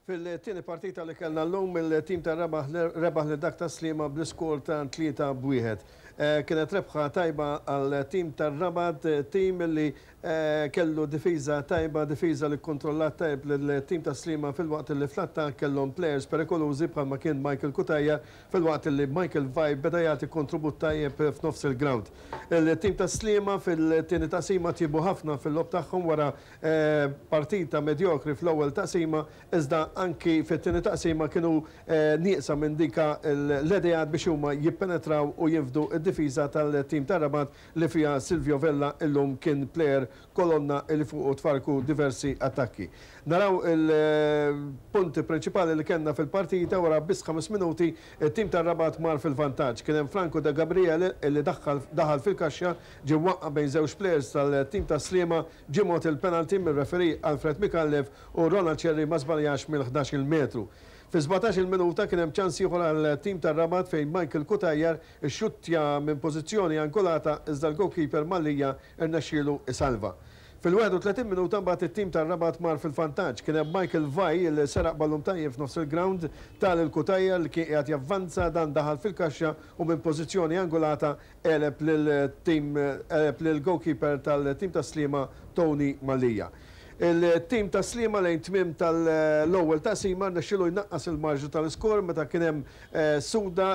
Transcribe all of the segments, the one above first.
Fil-tieni partita li kellna llum, il-tim tar-Rabat rebaħ lil dak tas-Sliema bl-iskor ta' 3-1. Kienet rebħa tajba għall-tim tar-Rabat, tim li kellu difiża tajba, difiża li kkontrollat tajjeb lill-tim tas-Sliema filwaqt li fl-attakk kellhom plejers perikolużi bħalma kien Michael Cutajar filwaqt li Michael Vai beda jagħti kontribut tajjeb f'nofs il-grawnd. Il-tim tas-Sliema fil-tieni taqsima tjiebu ħafna fil-logħob tagħhom wara Partita medjokri fl-ewwel taqsima iżda anki fit-tieni taqsima kienu nieqsa minn dika l-ideat biex huma jippenetraw u jinfdu d-difiża tal-tim ta' Rabat li fiha Silvio Vella illum kien plejer kolonna li fuqu tfarrku diversi attakki. Naraw il-punti prinċipali li kellna fil-partita wara biss ħames minuti it-tim ta' Rabat mar fil-vantaġġ. Kien hemm Franco De Gabriele li daħal fil-kaxxa ġie mwaqqa' bejn żewġ plejers tal-tim ta' Sliema Ġie mogħti l-penalty mir-referee Alfred Micallef u Ronald Scerri ma żbaljax mill-ħdax-il metru. Fis-17-il minuta kien hemm ċans ieħor għal tim tar-Rabat fejn Michael Cutajar ixxuttja minn pożizzjoni angolata iżda l-goalkeeper Mallia rnexxielu jsalva. Fil-31 minuta mbagħad it-tim tar-Rabat mar fil-vantaġġ. Kien hemm Michael Vai li seraq ballun tajjeb f'nofs il-grawnd, ta lil Cutajar li kien qiegħed javvanza, dan daħal fil-kaxxa u minn pożizzjoni angolata għeleb lil tim għeleb lil goalkeeper tal-tim ta' Sliema Tony Mallia. Il-tim ta' Sliema lejn tmiem tal-ewwel taqsima rnexxielu jnaqqas il-marġnu tal-iskor meta kien hemm Suda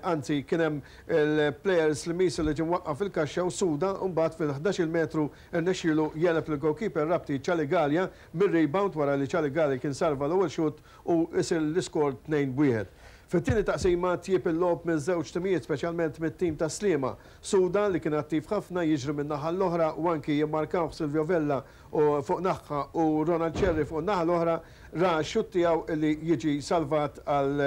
anzi kien hemm il-player Slimiż li ġie mwaqqaf fil-kaxxa u Suda mbagħad fil-ħdax-il metru rnexxielu jegħleb lill-goalkeeper Rabti Charlie Galea mir-rebound wara li Charlie Galea kien salva l-ewwel xutt u jsir l-iskor 2-1. Fit-tieni taqsima tjieb il-logħob miż-żewġ timijiet speċjalment mit-tim ta' Sliema. Suda li kien attiv ħafna jiġri minn naħa għall-oħra u anki jimmarkawh Silvio Vella fuq naħha u Ronald Scerri fuq in-naħa l-oħra ra x-xutt tiegħu li jiġi salvat għal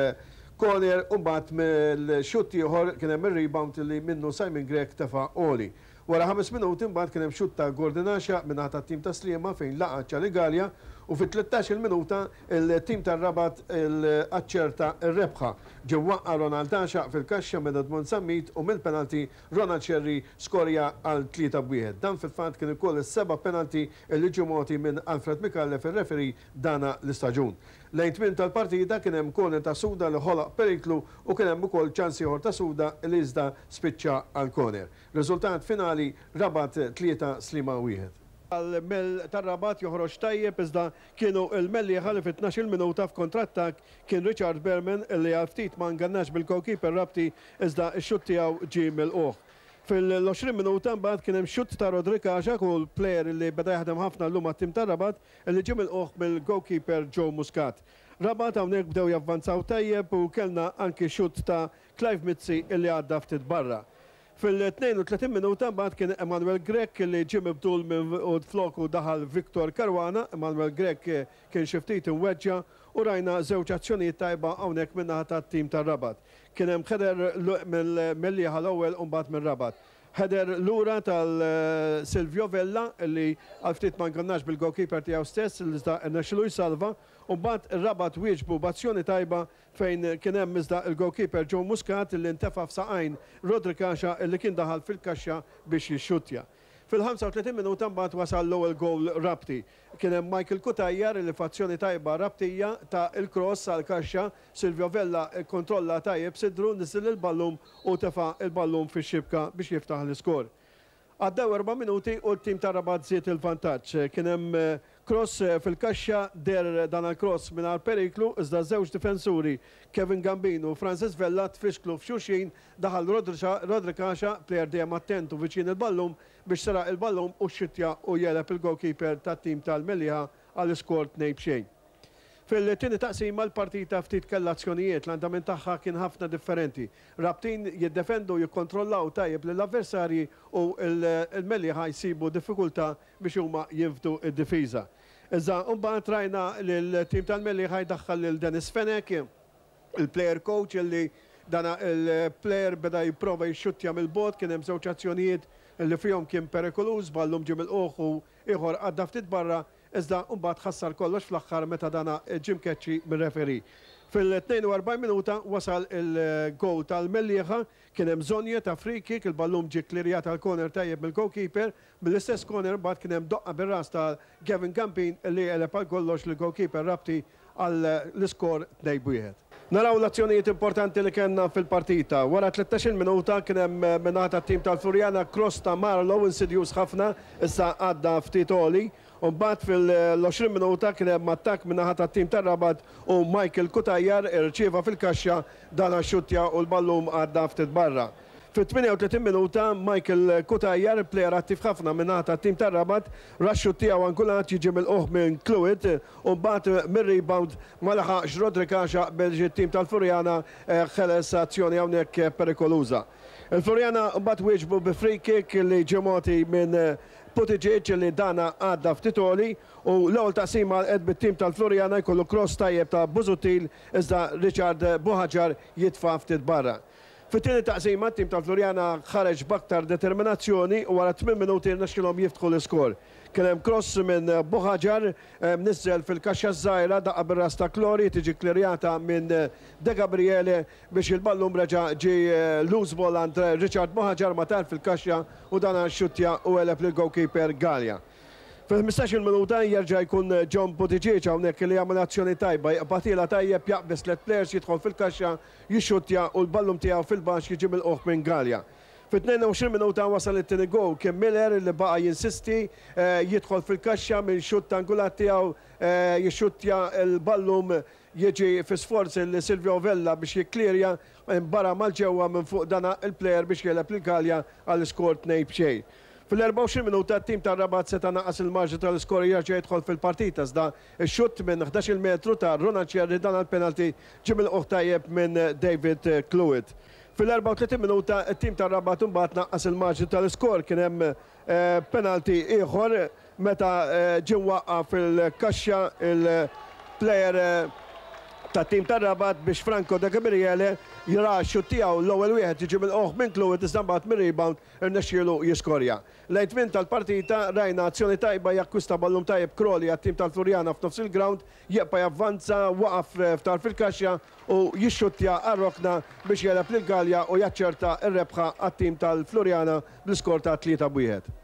corner u mbagħad mill-xutt ieħor kien hemm ir-rebound li minnu Simon Grech tefa' għoli. Wara ħames minuti mbagħad kien hemm xutt ta' Gordon Għaxaq min-naħa tat-tim ta' Sliema fejn laqa' Charlie Galea u fit-tlettax-il minuta l-tim tar-Rabat aċċerta r-rebħa. Ġie mwaqqa' Ronald Għaxaq fil-kaxxa minn Edmond Zammit u mill-penalty Ronald Scerri skorja għal 3-1. Dan fil-fatt kien ukoll is-seba' penalty li ġie mogħti minn Alfred Micallef ir-referee dana l-istaġun. Lejn tmiem tal-partita kien hemm corner ta' Suda li ħolaq periklu u kien hemm ukoll ċans ieħor ta' Suda li iżda spiċċa għal corner. Riżultat finali, Rabat 3, Sliema 1. Għall-Mel tar-Rabat joħroġ tajjeb iżda kienu l-Mellieħa li fit-tnax-il minuta f'kontrattakk kien Richard Berman li għal ftit ma ngannax bil-goalkeeper Rabti iżda x-xutt tiegħu ġie milqugħ. Fil-20 minuta mbagħad kien hemm xutt ta' Roderick Għaxaq u l-plejer li beda jaħdem ħafna llum għat-tim tar-Rabat li ġie milqugħ mill-goalkeeper Joe Muscat. Rabat hawnhekk bdew javvanzaw tajjeb u kellna anki xutt ta' Clive Mizzi li għadda ftit barra. Fil-32 minuta mbagħad kien Emanuel Grech li ġie mibdul minn u floku daħal Victor Caruana. Emanuel Grech kien xi ftit imweġġa' u rajna żewġ azzjonijiet tajba hawnhekk min-naħa tat-tim tar-Rabat. Kien hemm header mill-Mellieħa l-ewwel u mbagħad mir-Rabat. Header lura tal Silvio Vella li għal ftit ma ngannax bil-goalkeeper tiegħu stess iżda rnexxielu jsalva u mbagħad ir-Rabat wieġbu b'azzjoni tajba fejn kien hemm iżda l-goalkeeper Joe Muscat li ntefa' f'saqajn Roderick Asha li kien daħal fil-kaxxa biex jixxuttja. Fil-35 minuta mbagħad wasal l-ewwel gowl Rabti. Kien hemm Michael Cutajar li f'azzjoni tajba Rabtija ta l-cross għall-kaxxa, Silvio Vella kkontrolla tajjeb sidru, niżżel il-ballun u tefa' l-ballun fix-xibka biex jiftaħ l-iskor. Għaddew erba' minuti u t-tim ta' Rabat żied il-vantaġġ. Kien hemm cross fil-kaxxa, deher dan il-cross mingħajr periklu iżda żewġ difensuri, Kevin Gambin u Francis Vella tfixklu f'xulxin, daħal Roderick Asha, plejer dejjem attent u viċin il-ballun, biex seraq il-ballun u xxuttja u jegħleb il-goalkeeper tat-tim tal-Mellieħa għall-iskor 2-0. Fil-tieni taqsima l-partita ftit kellha azzjonijiet, l-andament tagħha kien ħafna differenti. Rabtin jiddefendu u jikkontrollaw tajjeb lill-avversarji u l-Mellieħa jsibu diffikultà biex huma jinfdu d-difiża. Iżda mbagħad rajna lill-tim tal-Mellieħa jdaħħal lil Dennis Fenech, il-player coach li dan il-player beda jipprova jixxuttja mill-bogħod, kien hemm żewġ azzjonijiet li fihom kien perikoluż, ballum ġie milqugħ u ieħor għadda ftit barra. Iżda mbagħad ħassar kollox fl-aħħar meta dana ġie mkeċċi mir-referee. Fil-42 minuta wasal il-goal tal-Mellieħa, kien hemm Zonje ta' free kick, il-ballun ġie kklirjat għal corner tajjeb mill-goalkeeper, mill-istess corner mbagħad kien hemm doqqa bir-ras ta' Gavin Gambin li għeleb għal kollox lill-goalkeeper Rabti. għall-iskor 2-1. Naraw l-azzjonijiet importanti li kellna fil-partita. Wara 13-il minuta kien hemm min-naħa tat-tim tal-Floriana cross ta' Marlow insidjuż ħafna iżda għadda ftit għoli. U mbagħad fil-20 minuta kien hemm attakk min-naħa tat-tim tar-Rabat u Michael Cutajar irċieva fil-kaxxa dan xxuttja u l-ballun għadda ftit barra. Fit-38 minuta Michael Cutajar, plejer attiv ħafna min-naħa tat-tim tar-Rabat, ra x-xutt tiegħu angulat jiġi milqugħ minn Cluett u mbagħad mir-rebound ma laħaqx Roderick Għaxaq biex it-tim tal-Floriana ħeles azzjoni hawnhekk perikoluża. Il-Floriana mbagħad wieġbu bi free kick li ġie mogħti minn Buttigieg li dana għadda ftit għoli u l-ewwel taqsima għalqet bit-tim tal-Floriana jkollu cross tajjeb ta' Busuttil iżda Richard Buhagiar jitfa' ftit barra. Fit-tieni taqsima t-tim tal-Floriana ħareġ b'aktar determinazzjoni u wara tmien minuti rnexxielhom jiftħu l-iskor. Kien hemm cross minn Buhagiar mniżżel fil-kaxxa ż-żgħira daqqa bir-ras ta' Clori tiġi kklirjata minn De Gabriele biex il-ballun reġa' ġie loose ball għand Richard Buhagiar ma tar fil-kaxxa u dan xxuttja u għeleb lill-goalkeeper Galea. Fil-15-il minuta jerġa' jkun John Buttigieg hawnhekk li jagħmel azzjoni tajba, jaqbadilha tajjeb, jaqbeż tliet players, jidħol fil-kaxxa, jixxuttja u l-ballun tiegħu fil-baxx jiġi milqugħ minn Galea. Fit-22 minuta wasal it-tieni goal, kien Miller li baqa' jinsisti jidħol fil-kaxxa minn xutt angulat tiegħu jixxuttja l-ballun jiġi fi sforz lil Silvio Vella biex jikklirja imbara mal-ġewwa minn fuq dan il-plejer biex jegħleb lil Galea għall-iskor 2-0. Fil-24 minuta t-tim tar-Rabat seta' naqqas il-marġni tal-iskor u jerġa' jidħol fil-partita iżda x-xutt minn 11-il metru ta' Ronald Scerri dan għall-penalty ġie milqugħ tajjeb minn David Cluett. Fil-34 minuta t-tim tar-Rabat imbagħad naqqas il-marġni tal-iskor kien hemm penalty ieħor meta ġie mwaqqa' fil-kaxxa il-plejer tat-tim tar-Rabat biex Franco De Gabriele ra x-xutt tiegħu l-ewwel wieħed jiġi milqugħ minn Cluett iżda mbagħad mir-rebound irnexxielu jiskorja. Lejn tmiem tal-partita rajna azzjoni tajba jakkwista ballun tajjeb Crowley għat-tim tal-Floriana f'nofs il-grawnd, jibqa' javvanza, waqaf f'tarf il-kaxxa u jixxuttja għar-rokna biex jegħleb lil Galea u jaċċerta r-rebħa għat-tim tal-Floriana bl-iskor ta' 3 b'wieħed.